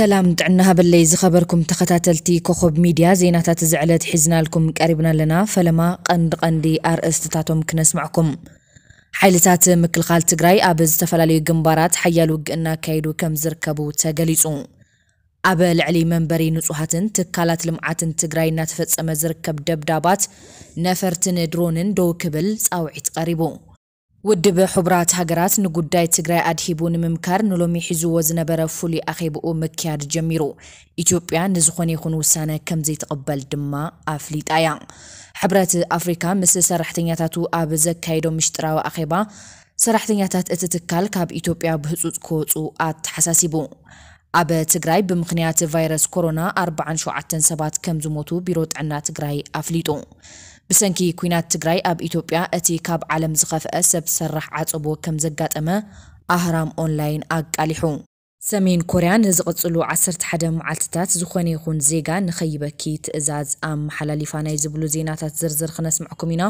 ሰላም ጥዕና ሃበለይ ዝኸበርኩም ተኸታተልቲ ኮኸብ ሚድያ፣ ዜናታት እዚ ዕለት ሒዝናልኩም ቀሪብና ኣለና። ፈለማ ቀንዲ ቀንዲ ኣርእስትታቶም ክነስምዕኩም። ሓይልታት ምክልኻል ትግራይ ኣብ ዝተፈላለዩ ግንባራት ሓያል ውግእ እናካየዱ ከም ዝርከቡ ተገሊጹ። ኣብ ልዕሊ መንበሪ ንጹሃትን ትካላት ልምዓትን ትግራይ እናተፈጸመ ዝርከብ ደብዳባት ነፈርትን ድሮንን ደው ክብል ጻውዒት ቀሪቡ። ውድብ ሕቡራት ሃገራት ንጉዳይ ትግራይ ኣድሂቡ ንምምካር ንሎሚ ሒዝዎ ዝነበረ ፍሉይ ኣኼብኡ ምክያድ ጀሚሩ። ኢትዮጵያ ንዝኾነ ይኹን ውሳነ ከም ዘይትቕበል ድማ ኣፍሊጣ እያ። ሕብረት ኣፍሪካ ምስ ሰራሕተኛታቱ ኣብ ዘካየዶ ምሽጥራዊ ኣኼባ፣ ሰራሕተኛታት እቲ ትካል ካብ ኢትዮጵያ ብህጹጽ ክወጹ ኣተሓሳሲቡ። ኣብ ትግራይ ብምኽንያት ቫይረስ ኮሮና ኣርባዓን ሸውዓተን ሰባት ከም ዝሞቱ ቢሮ ጥዕና ትግራይ ኣፍሊጡ። ብሰንኪ ኲናት ትግራይ ኣብ ኢትዮጵያ እቲ ካብ ዓለም ዝኸፍአ ሰብ ሰራሕ ዓጸቦ ከም ዘጋጠመ ኣህራም ኦንላይን ኣቃሊሑ። ሰሜን ኮርያ ንዝቕጽሉ ዓሰርተ ሓደ መዓልትታት ዝኾነ ይኹን ዜጋ ንኸይበኪ ትእዛዝ ኣመሓላሊፋ። ናይ ዝብሉ ዜናታት ዝርዝር ክነስምዕኩም ኢና።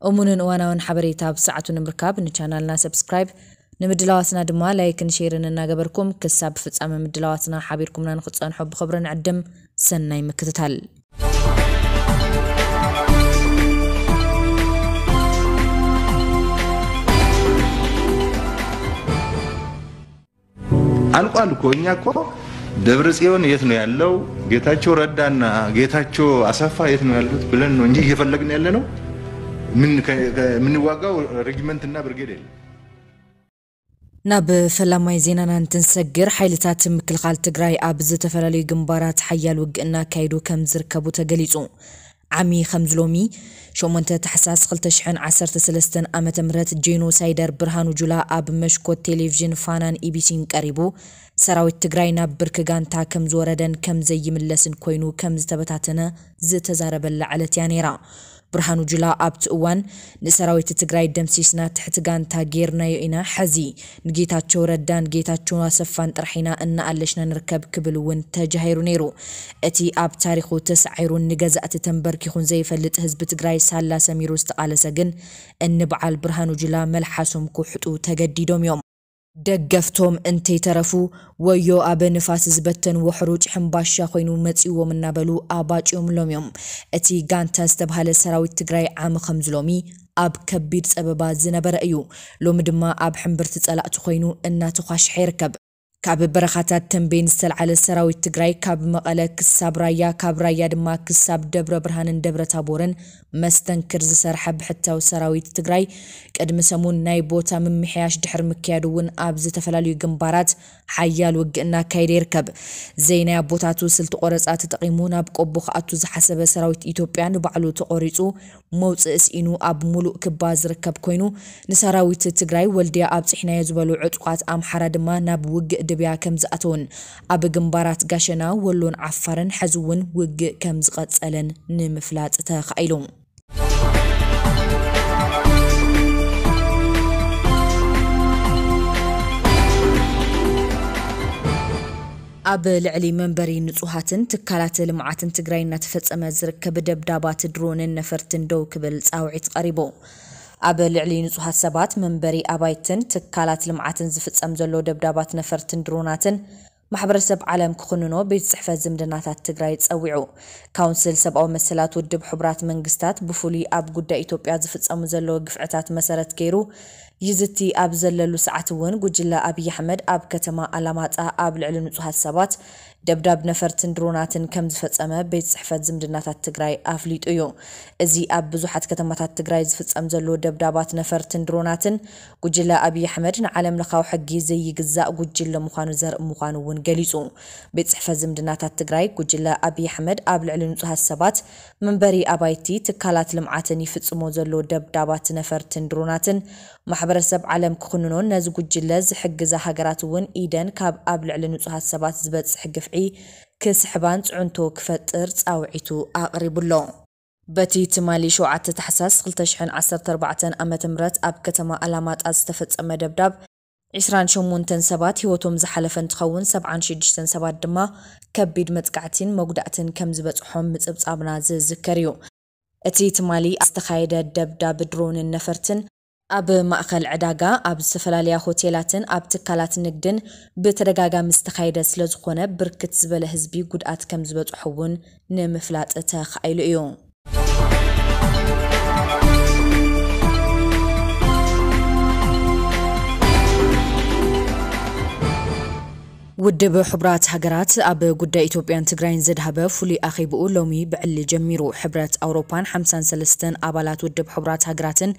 እሙንን እዋናውን ሓበሬታ ብሰዓቱ ንምርካብ ንቻናልና ሰብስክራይብ፣ ንምድላዋትና ድማ ላይክን ሼርን እናገበርኩም ክሳብ ፍጻመ ምድላዋትና ሓቢርኩምና ንክትጸንሑ ብኽብሪ ንዕድም። ሰናይ ምክትታል። አልቋል እኮ። እኛ እኮ ደብረ ጽዮን የት ነው ያለው፣ ጌታቸው ረዳና ጌታቸው አሰፋ የት ነው ያሉት ብለን ነው እንጂ እየፈለግን ያለ ነው። ምን ከ- ከ- የምንዋጋው ሬጂመንትና ብርጌድ የለም። ናብ ፈላማይ ዜናና እንትንሰግር፣ ሓይልታት ምክልኻል ትግራይ ኣብ ዝተፈላለዩ ግንባራት ሓያል ውግእ እናካየዱ ከም ዝርከቡ ተገሊጹ። ዓሚ ከምዚ ሎሚ ሸሞንተ ታሕሳስ ክልተ ሽሕን ዓሰርተ ሰለስተን ዓመተ ምህረት ጄኖሳይደር ብርሃኑ ጁላ ኣብ መሽኮት ቴሌቪዥን ፋናን ኢቢሲን ቀሪቡ፣ ሰራዊት ትግራይ ናብ ብርኪ ጋንታ ከም ዝወረደን ከም ዘይምለስን ኮይኑ ከም ዝተበታተነ ዝተዛረበላ ዕለት እያ ነይራ። ብርሃኑ ጁላ ኣብቲ እዋን፣ ንሰራዊት ትግራይ ደምሲስና ትሕቲ ጋንታ ጌርናዮ ኢና፣ ሕዚ ንጌታቸው ረዳን ጌታቸው ኣሰፋን ጥራሕ ኢና እናኣለሽና ንርከብ ክብል እውን ተጃሂሩ ነይሩ። እቲ ኣብ ታሪኹ ተሳዒሩን ንገዛእቲ ተንበርኪኹን ዘይፈልጥ ህዝቢ ትግራይ ሳላ ሰሚሩ ዝተቓለሰ ግን፣ እኒ በዓል ብርሃኑ ጁላ መልሓሶም ክውሕጡ ተገዲዶም እዮም። ደገፍቶም እንተይተረፉ፣ ወዮ ኣብ ንፋስ ዝበተንዎ ሕሩጭ ሕምባሻ ኮይኑ መጺዎም እናበሉ ኣባጭዮምሎም እዮም። እቲ ጋንታ ዝተብሃለ ሰራዊት ትግራይ ዓሚ ከምዚ ሎሚ ኣብ ከቢድ ጸበባ ዝነበረ እዩ። ሎሚ ድማ ኣብ ሕምብርቲ ጸላእቲ ኮይኑ እናተዃሽሐ ይርከብ። ካብ በረኻታት ተንቤን ዝተልዓለ ሰራዊት ትግራይ ካብ መቐለ ክሳብ ራያ፣ ካብ ራያ ድማ ክሳብ ደብረ ብርሃንን ደብረ ታቦርን መስተንክር ዝሰርሐ ብሕታዊ ሰራዊት ትግራይ፣ ቅድሚ ሰሙን ናይ ቦታ ምምሕያሽ ድሕሪ ምክያዱ እውን ኣብ ዝተፈላለዩ ግንባራት ሓያል ውግእ እናካየደ ይርከብ። ዘይናይ ኣቦታቱ ስልቲ ቆረፃ ተጠቒሙ ናብ ቆቦ ክኣቱ ዝሓሰበ ሰራዊት ኢትዮጵያ ንባዕሉ ተቖሪፁ መውፅኢ ስኢኑ ኣብ ሙሉእ ክባ ዝርከብ ኮይኑ፣ ንሰራዊት ትግራይ ወልድያ ኣብፂሕናዮ ዝበሉ ዕጡቓት ኣምሓራ ድማ ናብ ውግእ ድብያ ከም ዝኣተውን፣ ኣብ ግንባራት ጋሸና፣ ወሎን ዓፋርን ሕዚ እውን ውግእ ከም ዝቐፀለን ንምፍላጥ ተኻኢሉ። ኣብ ልዕሊ መንበሪ ንጹሃትን ትካላት ልምዓትን ትግራይ እናተፈጸመ ዝርከብ ደብዳባት ድሮንን ነፈርትን ደው ክብል ጻውዒት ቀሪቡ። ኣብ ልዕሊ ንጹሃት ሰባት፣ መንበሪ ኣባይትን ትካላት ልምዓትን ዝፍጸም ዘሎ ደብዳባት ነፈርትን ድሮናትን ማሕበረሰብ ዓለም ክኹንኖ ቤት ጽሕፈት ዝምድናታት ትግራይ ጸዊዑ። ካውንስል ሰብኣዊ መሰላት ውድብ ሕቡራት መንግስታት ብፍሉይ ኣብ ጉዳይ ኢትዮጵያ ዝፍጸሙ ዘለዉ ግፍዕታት መሰረት ገይሩ ይዝቲ ኣብ ዘለሉ ሰዓት እውን፣ ጉጅለ ኣብይ ኣሕመድ ኣብ ከተማ ኣላማጣ ኣብ ልዕሊ ንጹሃት ሰባት ደብዳብ ነፈርትን ድሮናትን ከም ዝፈጸመ ቤት ጽሕፈት ዝምድናታት ትግራይ ኣፍሊጡ እዩ። እዚ ኣብ ብዙሓት ከተማታት ትግራይ ዝፍጸም ዘሎ ደብዳባት ነፈርትን ድሮናትን፣ ጉጅለ ኣብይ ኣሕመድ ንዓለም ለኻዊ ሕጊ ዘይግዛእ ጉጅለ ምዃኑ ዘርኢ ምዃኑ እውን ገሊጹ። ቤት ጽሕፈት ዝምድናታት ትግራይ፣ ጉጅለ ኣብይ ኣሕመድ ኣብ ልዕሊ ንጹሃት ሰባት፣ መንበሪ ኣባይቲ፣ ትካላት ልምዓትን ይፍጽሞ ዘሎ ደብዳባት ነፈርትን ድሮናትን ማሕበረሰብ ዓለም ክኹንኖን ነዚ ጉጅለ ዝሕግዛ ሃገራት እውን ኢደን ካብ ኣብ ልዕሊ ንጹሃት ሰባት ዝበጽሕ ግፍዒ ክስሕባን ጽዕንቶ ክፈጥር ጻውዒቱ ኣቕሪቡ ኣሎ። በቲ ትማሊ ሸውዓተ ታሕሳስ ክልተ ሽሕን ዓሰርተ ኣርባዕተን ዓመተ ምህረት ኣብ ከተማ ኣላማጣ ዝተፈጸመ ደብዳብ፣ ዒስራን ሸሞንተን ሰባት ህይወቶም ዝሓለፈ እንትኸውን፣ ሰብዓን ሽዱሽተን ሰባት ድማ ከቢድ መጥቃዕቲን መጉዳእትን ከም ዝበጽሖም ምጽብጻብና ዝዝከር እዩ። እቲ ትማሊ ዝተኻየደ ደብዳብ ድሮንን ነፈርትን፣ ኣብ ማእኸል ዕዳጋ፣ ኣብ ዝተፈላለያ ሆቴላትን ኣብ ትካላት ንግድን ብተደጋጋሚ ዝተኻየደ ስለዝኾነ፣ ብርክት ዝበለ ህዝቢ ጉድኣት ከም ዝበፅሖ እውን ንምፍላጥ ተኻኢሉ እዩ። ውድብ ሕቡራት ሃገራት ኣብ ጉዳይ ኢትዮጵያን ትግራይን ዘድሃበ ፍሉይ ኣኼብኡ ሎሚ ብዕሊ ጀሚሩ። ሕብረት ኣውሮፓን ሓምሳን ሰለስተን ኣባላት ውድብ ሕቡራት ሃገራትን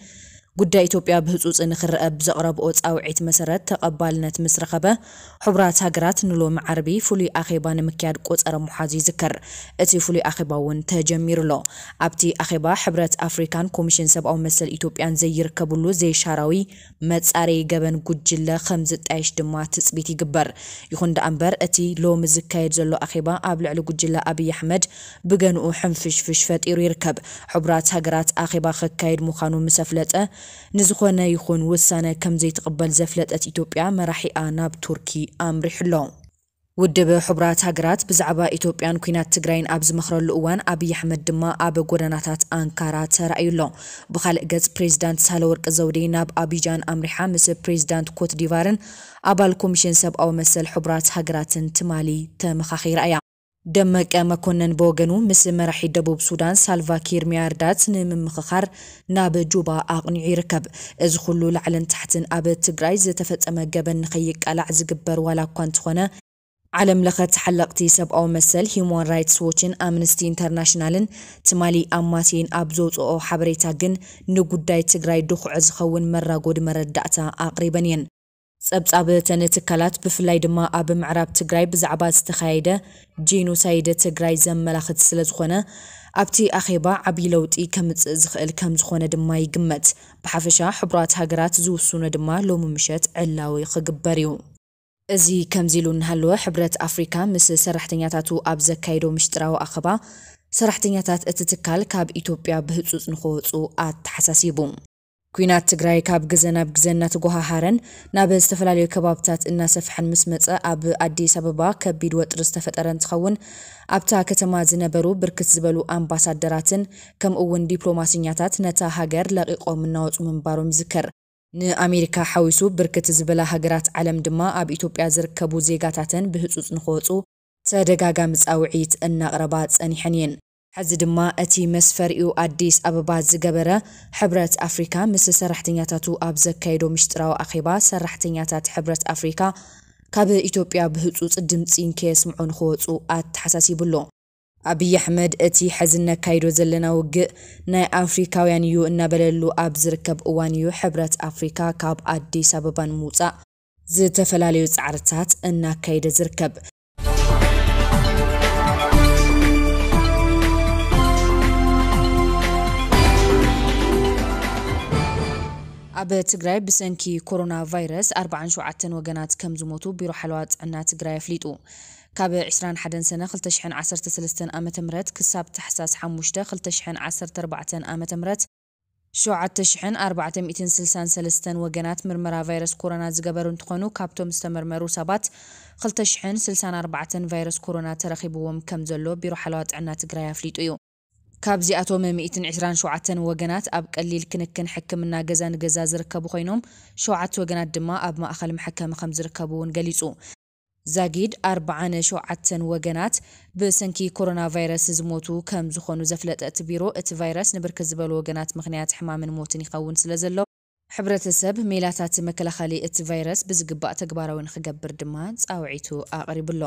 ጉዳይ ኢትዮጵያ ብህጹጽ ንኽረአ ብዘቕረብኦ ጻውዒት መሰረት ተቐባልነት ምስ ረኸበ፣ ሕቡራት ሃገራት ንሎሚ ዓርቢ ፍሉይ ኣኼባ ንምክያድ ቆጸረ ምሓዙ ይዝከር። እቲ ፍሉይ ኣኼባ እውን ተጀሚሩ ኣሎ። ኣብቲ ኣኼባ ሕብረት ኣፍሪካን ኮሚሽን ሰብኣዊ መሰል ኢትዮጵያን ዘይርከብሉ ዘይሻራዊ መጻረዪ ገበን ጉጅለ ከም ዝጣየሽ ድማ ትጽቢት ይግበር። ይኹን ደኣ እምበር፣ እቲ ሎሚ ዝካየድ ዘሎ ኣኼባ ኣብ ልዕሊ ጉጅለ ኣብይ ኣሕመድ ብገንኡ ሕንፍሽፍሽ ፈጢሩ ይርከብ። ሕቡራት ሃገራት ኣኼባ ከካይድ ምዃኑ ምስ ኣፍለጠ፣ ንዝኾነ ይኹን ውሳነ ከም ዘይትቕበል ዘፍለጠት ኢትዮጵያ፣ መራሒኣ ናብ ቱርኪ ኣምሪሑ ኣሎ። ውድብ ሕቡራት ሃገራት ብዛዕባ ኢትዮጵያን ኲናት ትግራይን ኣብ ዝመኽረሉ እዋን፣ ኣብይ ኣሕመድ ድማ ኣብ ጎደናታት ኣንካራ ተራእዩ ኣሎ። ብኻልእ ገጽ፣ ፕሬዚዳንት ሳህለወርቅ ዘውዴ ናብ ኣቢጃን ኣምሪሓ ምስ ፕሬዚዳንት ኮት ዲቫርን ኣባል ኮሚሽን ሰብኣዊ መሰል ሕቡራት ሃገራትን ትማሊ ተመኻኺራ እያ። ደመቀ መኮነን ብወገኑ፣ ምስ መራሒ ደቡብ ሱዳን ሳልቫ ኪር ሚያርዳት ንምምኽኻር ናብ ጁባ ኣቕኒዑ ይርከብ። እዚ ኩሉ ላዕልን ታሕትን ኣብ ትግራይ ዝተፈጸመ ገበን ንኸይቃላዕ ዝግበር ዋላ እኳ እንተኾነ፣ ዓለም ለኸ ተሓለቕቲ ሰብኣዊ መሰል ሂዩማን ራይትስ ዎችን ኣምነስቲ ኢንተርናሽናልን ትማሊ ኣማስየን ኣብ ዘውፅኦ ሓበሬታ ግን፣ ንጉዳይ ትግራይ ድኹዒ ዝኸውን መራጎዲ መረዳእታ ኣቕሪበን እየን። ጸብጻብ እተን ትካላት፣ ብፍላይ ድማ ኣብ ምዕራብ ትግራይ ብዛዕባ ዝተኻየደ ጄኖሳይድ ትግራይ ዘመላኽት ስለዝኾነ፣ ኣብቲ ኣኼባ ዓብዪ ለውጢ ከምጽእ ዝኽእል ከምዝኾነ ድማ ይግመት። ብሓፈሻ፣ ሕቡራት ሃገራት ዝውስኖ ድማ ሎሚ ምሸት ዕላዊ ክግበር እዩ። እዚ ከምዚ ኢሉ እናሃለወ፣ ሕብረት ኣፍሪካ ምስ ሰራሕተኛታቱ ኣብ ዘካየዶ ምሽጥራዊ ኣኸባ፣ ሰራሕተኛታት እቲ ትካል ካብ ኢትዮጵያ ብህጹጽ ንኽወጹ ኣተሓሳሲቡ። ኲናት ትግራይ ካብ ግዘ ናብ ግዘ እናተጓሃሃረን ናብ ዝተፈላለዩ ከባብታት እናሰፍሐን ምስ መጸ፣ ኣብ ኣዲስ ኣበባ ከቢድ ወጥሪ ዝተፈጠረ እንትኸውን፣ ኣብታ ከተማ ዝነበሩ ብርክት ዝበሉ ኣምባሳደራትን ከምኡ እውን ዲፕሎማሲኛታት ነታ ሃገር ለቒቖም እናወጹ ምንባሮም ይዝከር። ንኣሜሪካ ሓዊሱ ብርክት ዝበላ ሃገራት ዓለም ድማ ኣብ ኢትዮጵያ ዝርከቡ ዜጋታተን ብህጹጽ ንኽወጹ ተደጋጋሚ ጻውዒት እናቕረባ ጸኒሐን እየን። ሕዚ ድማ እቲ መስፈሪኡ ኣዲስ ኣበባ ዝገበረ ሕብረት ኣፍሪካ ምስ ሰራሕተኛታቱ ኣብ ዘካየዶ ምሽጥራዊ ኣኼባ፣ ሰራሕተኛታት ሕብረት ኣፍሪካ ካብ ኢትዮጵያ ብህጹጽ ድምጺ ንከየስምዑ ንኽወጹ ኣተሓሳሲቡ ኣሎ። ኣብይ ኣሕመድ እቲ ሕዚ እነካይዶ ዘለና ውግእ ናይ ኣፍሪካውያን እዩ እናበለሉ ኣብ ዝርከብ እዋን እዩ ሕብረት ኣፍሪካ ካብ ኣዲስ ኣበባ ንምውፃእ ዝተፈላለዩ ፃዕርታት እናካየደ ዝርከብ። ኣብ ትግራይ ብሰንኪ ኮሮና ቫይረስ ኣርባዓን ሸውዓተን ወገናት ከም ዝሞቱ ቢሮ ሓለዋ ጥዕና ትግራይ ኣፍሊጡ። ካብ ዕስራን ሓደን ሰነ ክልተ ሽሕን ዓሰርተ ሰለስተን ዓመተ ምህረት ክሳብ ታሕሳስ ሓሙሽተ ክልተ ሽሕን ዓሰርተ ኣርባዕተን ዓመተ ምህረት፣ ሸውዓተ ሽሕን ኣርባዕተ ሚእትን ስልሳን ሰለስተን ወገናት ምርመራ ቫይረስ ኮሮና ዝገበሩ እንትኾኑ፣ ካብቶም ዝተመርመሩ ሰባት ክልተ ሽሕን ስልሳን ኣርባዕተን ቫይረስ ኮሮና ተረኺብዎም ከም ዘሎ ቢሮ ሓለዋ ጥዕና ትግራይ ኣፍሊጡ እዩ። ካብዚኣቶም ሚእትን ዕስራን ሸውዓተን ወገናት ኣብ ቀሊል ክንክን ሕክምና ገዛ ንገዛ ዝርከቡ ኮይኖም፣ ሸውዓተ ወገናት ድማ ኣብ ማእኸል መሐከሚ ከም ዝርከቡ እውን ገሊጹ። ዛጊድ ኣርባዓን ሸውዓተን ወገናት ብሰንኪ ኮሮና ቫይረስ ዝሞቱ ከም ዝኾኑ ዘፍለጠ እቲ ቢሮ፣ እቲ ቫይረስ ንብርክት ዝበሉ ወገናት ምኽንያት ሕማምን ሞትን ይኸውን ስለ ዘሎ፣ ሕብረተሰብ ሜላታት መከላኸሊ እቲ ቫይረስ ብዝግባእ ተግባራዊ ንኽገብር ድማ ጻውዒቱ ኣቕሪቡ ኣሎ።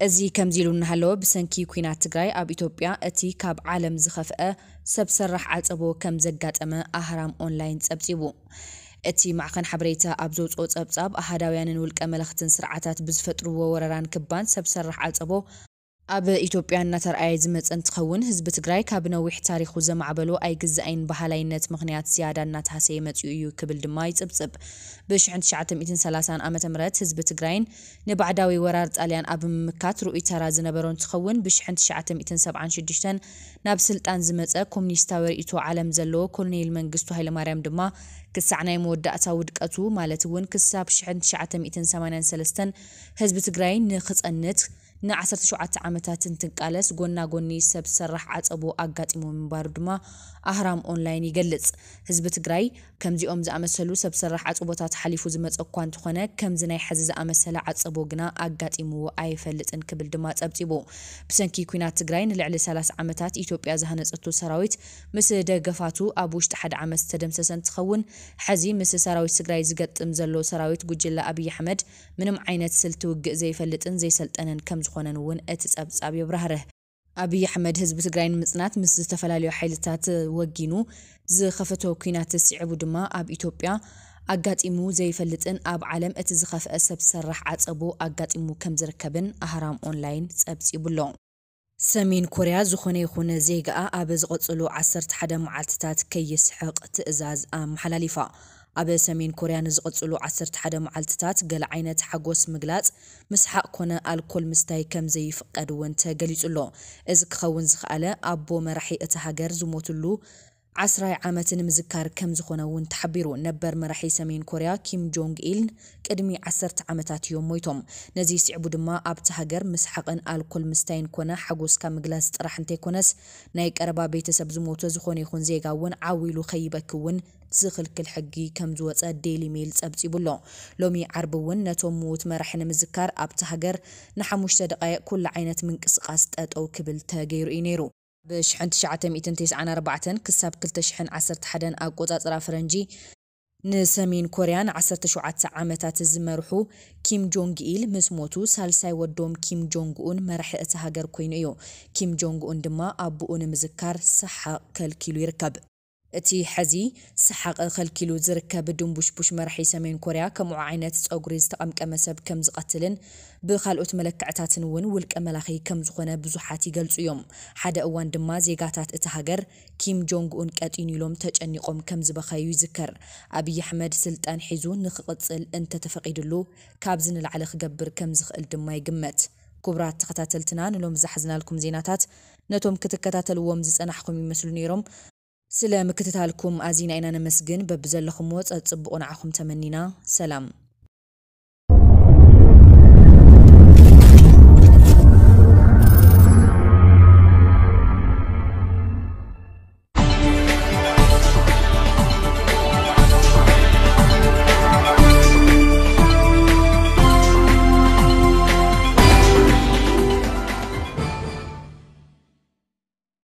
እዚ ከምዚ ኢሉ እናሃለወ፣ ብሰንኪ ኲናት ትግራይ ኣብ ኢትዮጵያ እቲ ካብ ዓለም ዝኸፍአ ሰብ ሰራሕ ዓጸቦ ከም ዘጋጠመ ኣህራም ኦንላይን ጸብጺቡ። እቲ ማዕኸን ሓበሬታ ኣብ ዘውፅኦ ጸብጻብ፣ ኣሃዳውያንን ውልቀ መለኽትን ስርዓታት ብዝፈጥርዎ ወረራን ክባን ሰብ ሰራሕ ዓጸቦ ኣብ ኢትዮጵያ እናተርኣየ ዝመፀ እንትኸውን፣ ህዝቢ ትግራይ ካብ ነዊሕ ታሪኹ ዘማዕበሎ ኣይግዛእን በሃላይነት ምኽንያት ዝያዳ እናተሃሰየ መፂኡ እዩ ክብል ድማ ይፅብፅብ። ብሽሕን ትሽዓተ ሚእትን ሰላሳን ዓመተ ምህረት ህዝቢ ትግራይን ንባዕዳዊ ወራር ጣልያን ኣብ ምምካት ርኡይ ተራ ዝነበሮ እንትኸውን፣ ብሽሕን ትሽዓተ ሚእትን ሰብዓን ሽዱሽተን ናብ ስልጣን ዝመፀ ኮሙኒስታዊ ርእይቶ ዓለም ዘለዎ ኮሎኔል መንግስቱ ሃይለማርያም ድማ ክሳዕ ናይ መወዳእታ ውድቀቱ፣ ማለት እውን ክሳብ ሽሕን ትሽዓተ ሚእትን ሰማንያን ሰለስተን ህዝቢ ትግራይ ንኽፀንት ን17 ዓመታት እንትንቃለስ፣ ጎና ጎኒ ሰብ ሰራሕ ዓጸቦ ኣጋጢሞ ምንባሩ ድማ ኣህራም ኦንላይን ይገልጽ። ህዝቢ ትግራይ ከምዚኦም ዝኣመሰሉ ሰብ ሰራሕ ዓጸቦታት ሓሊፉ ዝመጸ እኳ እንተኾነ፣ ከምዚ ናይ ሕዚ ዝኣመሰለ ዓጸቦ ግና ኣጋጢምዎ ኣይፈልጥን ክብል ድማ ጸብጺቡ። ብሰንኪ ኲናት ትግራይ ንልዕሊ 30 ዓመታት ኢትዮጵያ ዝሃነጸቶ ሰራዊት ምስ ደገፋቱ ኣብ ውሽጢ ሓደ ዓመት ዝተደምሰሰ እንትኸውን፣ ሕዚ ምስ ሰራዊት ትግራይ ዝገጥም ዘሎ ሰራዊት ጉጅለ ኣብይ ኣሕመድ ምንም ዓይነት ስልቲ ውግእ ዘይፈልጥን ዘይሰልጠነን ከም ዝኾነን እውን እቲ ጸብጻብ የብራህርህ። ኣብይ ኣሕመድ ህዝቢ ትግራይ ንምጽናት ምስ ዝተፈላለዩ ሓይልታት ወጊኑ ዝኸፈቶ ኲናት ስዒቡ ድማ ኣብ ኢትዮጵያ ኣጋጢሙ ዘይፈልጥን ኣብ ዓለም እቲ ዝኸፍአ ሰብ ሰራሕ ዓጸቦ ኣጋጢሙ ከም ዝርከብን ኣህራም ኦንላይን ጸብጺቡ ኣሎ። ሰሜን ኮርያ ዝኾነ ይኹን ዜጋኣ ኣብ ዝቐጽሉ 11 መዓልትታት ከይስሕቕ ትእዛዝ ኣመሓላሊፋ። ኣብ ሰሜን ኮርያ ንዝቐጽሉ 11 መዓልትታት ገለ ዓይነት ሓጎስ ምግላጽ፣ ምስሓቕ ኮነ ኣልኮል ምስታይ ከም ዘይፍቀድ እውን ተገሊጹ ኣሎ። እዚ ክኸውን ዝኸኣለ ኣቦ መራሒ እቲ ሃገር ዝሞትሉ ዓስራይ ዓመት ንምዝካር ከም ዝኾነ እውን ተሓቢሩ። ነበር መራሒ ሰሜን ኮርያ ኪም ጆንግ ኢል ቅድሚ ዓሰርተ ዓመታት እዮም ሞይቶም። ነዚ ስዒቡ ድማ ኣብቲ ሃገር ምስሓቕን ኣልኮል ምስታይን ኮነ ሓጎስካ ምግላጽ ጥራሕ እንተይኮነስ፣ ናይ ቀረባ ቤተሰብ ዝሞተ ዝኾነ ይኹን ዜጋ እውን ዓው ኢሉ ከይበኪ እውን ዝኽልክል ሕጊ ከም ዝወጸ ዴይሊ ሜል ጸብጺቡ ኣሎ። ሎሚ ዓርቢ እውን ነቶም ምዉት መራሒ ንምዝካር ኣብቲ ሃገር ንሓሙሽተ ደቓይቕ ኩሉ ዓይነት ምንቅስቓስ ጠጠው ክብል ተገይሩ እዩ ነይሩ። ብ1994 ክሳብ 2011 ኣቆጻጽራ ፈረንጂ ንሰሜን ኮርያ ን17 ዓመታት ዝመርሑ ኪም ጆንግ ኢል ምስ ሞቱ፣ ሳልሳይ ወዶም ኪም ጆንግ ኡን መራሒ እቲ ሃገር ኮይኑ እዩ። ኪም ጆንግ ኡን ድማ ኣቦኡ ንምዝካር ሰሓቕ ከልኪሉ ይርከብ። እቲ ሕዚ ሰሓቕ ከልኪሉ ዝርከብ ድንቡሽቡሽ መራሒ ሰሜን ኮርያ፣ ከምኡ ዓይነት ጸጉሪ ዝተቐምቀመ ሰብ ከም ዝቐትልን ብኻልኦት መለክዕታትን እውን ውልቀ መላኺ ከም ዝኾነ ብዙሓት ይገልጹ እዮም። ሓደ እዋን ድማ ዜጋታት እቲ ሃገር ኪም ጆንግ ኡን ቀጢኑ ኢሎም ተጨኒቖም ከም ዝበኸዩ ይዝከር። ኣብይ ኣሕመድ ስልጣን ሒዙ ንኽቕጽል እንተተፈቒድሉ ካብዚ ንላዕሊ ክገብር ከም ዝኽእል ድማ ይግመት። ክቡራት ተኸታተልትና፣ ንሎም ዝሓዝናልኩም ዜናታት ነቶም ክትከታተልዎም ዝጸናሕኩም ይመስሉ ነይሮም። ስለ ምክትታልኩም ኣዚና ኢና ነመስግን። በብዘለኹምዎ ጸጽብቑ ንዓኹም ተመኒና። ሰላም።